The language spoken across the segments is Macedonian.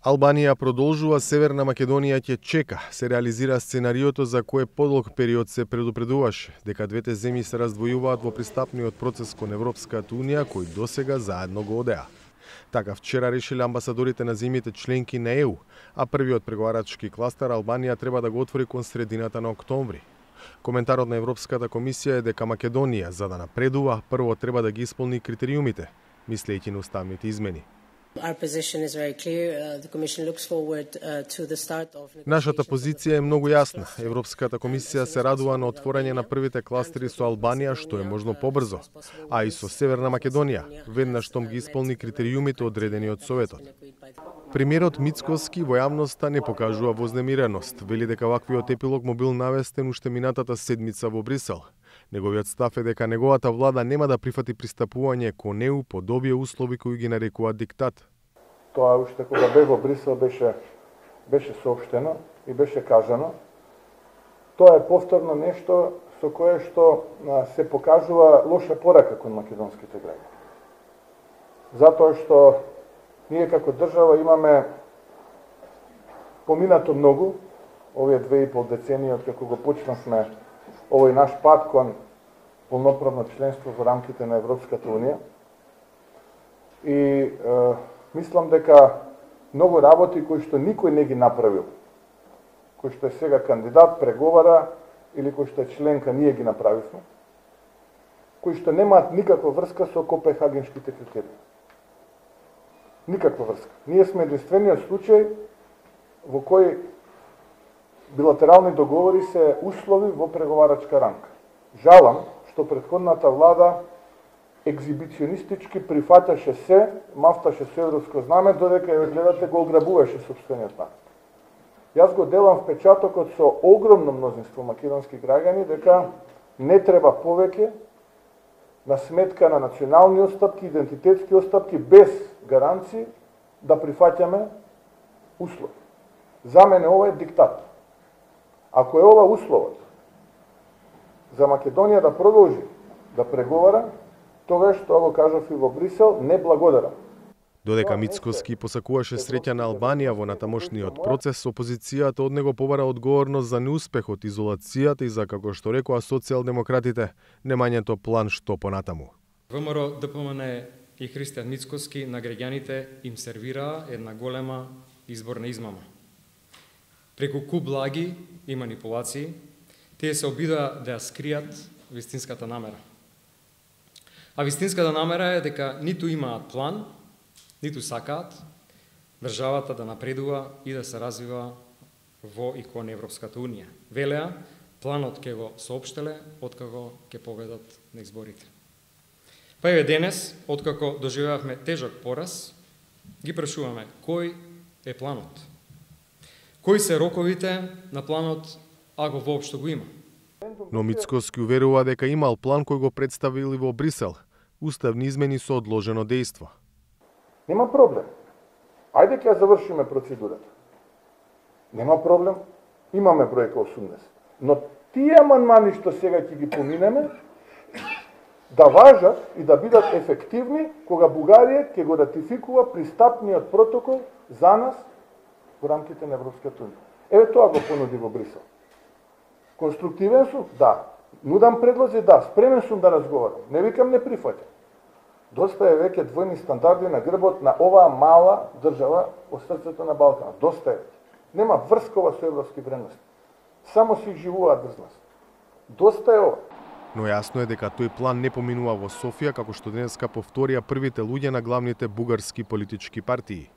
Албанија продолжува, Северна Македонија ќе чека. Се реализира сценариото за кое подолг период се предупредуваше дека двете земји се раздвојуваат во пристапниот процес кон Европската унија, кој досега заедно го одеа. Така вчера решиле амбасадорите на земјите членки на ЕУ, а првиот преговарачки кластер Албанија треба да го отвори кон средината на октомври. Коментарот на Европската комисија е дека Македонија, за да напредува, прво треба да ги исполни критериумите, мислејќи на уставните измени. Нашата позиција е многу јасна. Европската комисија се радува на отворање на првите кластери со Албанија што е можно побрзо, а и со Северна Македонија, веднаш штом ги исполни критериумите одредени од Советот. Премиерот Мицкоски во јавноста не покажува вознемиреност, вели дека ваквиот епилог му бил навестен уште минатата седмица во Брисел. Неговиот став е дека неговата влада нема да прифати пристапување кон ЕУ под овие услови кои ги нарекуваат диктат. Тоа уште кога бе во Брисел беше соопштено и беше кажано. Тоа е повторно нешто со кое што се покажува лоша порака кон македонските граѓани. Затоа што ние како држава имаме поминато многу, овие 2,5 децении од како го почнавме овој наш пат кон полноправно членство во рамките на Европската унија. И мислам дека многу работи кои што никој не ги направил, кои што е сега кандидат, преговара или кои што е членка, ние ги направивме, кои што немаат никаква врска со Копенхагенските критерии. Никаква врска. Ние сме единствениот случај во кој билатерални договори се услови во преговарачка рамка. Жалам што претходната влада екзибиционистички прифаташе се, мафташе се европско знаме, додека ја гледате го ограбуваше сопствениот народ. Јас го делам впечатокот со огромно мнозинство македонски граѓани дека не треба повеќе на сметка на национални отстапки, идентитетски отстапки, без гаранции да прифаќаме услови. За мене ова е диктат. Ако е ова условот за Македонија да продолжи да преговара, тогаш, тоа го кажав и во Брисел, не благодарам. Додека Мицкоски посакуваше среќа на Албанија во натамошниот процес, опозицијата од него побара одговорност за неуспехот, изолацијата и за, како што рекоа социјалдемократите, немањето план што понатаму. ВМРО, ДПМН и Христијан Мицкоски на граѓаните им сервираа една голема изборна измама. Преку куп лаги и манипулации, тие се обидоа да ја скријат вистинската намера. А вистинската намера е дека ниту имаат план, ниту сакаат државата да напредува и да се развива во и кон Европската унија. Велеа, планот ќе го соопштеле откако ќе победат на изборите. Па еве денес, откако доживеавме тежок пораз, ги прашуваме кој е планот? Кои се роковите на планот, ако воопшто го има? Но Мицкоски уверува дека имал план кој го представили во Брисел. Уставни измени со одложено дејство. Нема проблем. Ајде ќе завршиме процедурата. Нема проблем. Имаме бројка 80. Но тие амандмани што сега ќе ги поминеме, да важат и да бидат ефективни кога Бугарија ќе го ратификува пристапниот протокол за нас во рамките на Европската унија. Еве тоа го понуди во Брисел. Конструктивен сум? Да. Нудам предлози? Да. Спремен сум да разговарам. Не викам не прифаќам. Доста е веќе двојни стандарди на грбот на оваа мала држава во срцето на Балканот. Доста е. Нема врскова со европски вредности. Само си живуваат без нас. Доста е ова. Но јасно е дека тој план не поминува во Софија, како што денеска повторија првите луѓе на главните бугарски политички партии.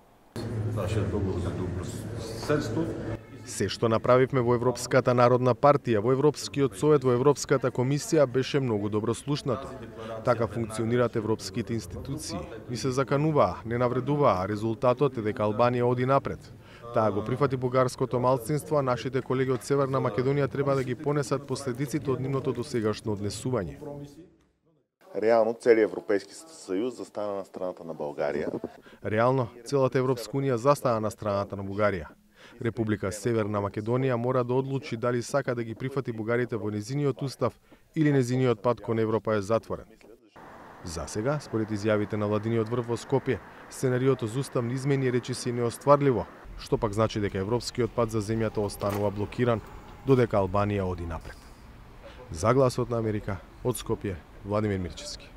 Се што направивме во Европската народна партија, во Европскиот совет, во Европската комисија беше многу добро слушнато. Така функционираат европските институции. Ни се закануваа, не навредуваа, резултатот е дека Албанија оди напред. Таа го прифати бугарското малцинство, а нашите колеги од Северна Македонија треба да ги понесат последиците од нивното досегашно однесување. Реално целиот Европейски сојуз застана на страната на Българија. Реално целата Европска унија застана на страната на Бугарија. Република Северна Македонија мора да одлучи дали сака да ги прифати бугарите во незиниот устав или незиниот пат кон Европа е затворен. За сега, според изјавите на владиниот врв во Скопје, сценариото за уставни измени речиси неостварливо, што пак значи дека европскиот пат за земјата останува блокиран, додека Албанија оди напред. За Гласот на Америка, од Скопје, Владимир Мирчевски.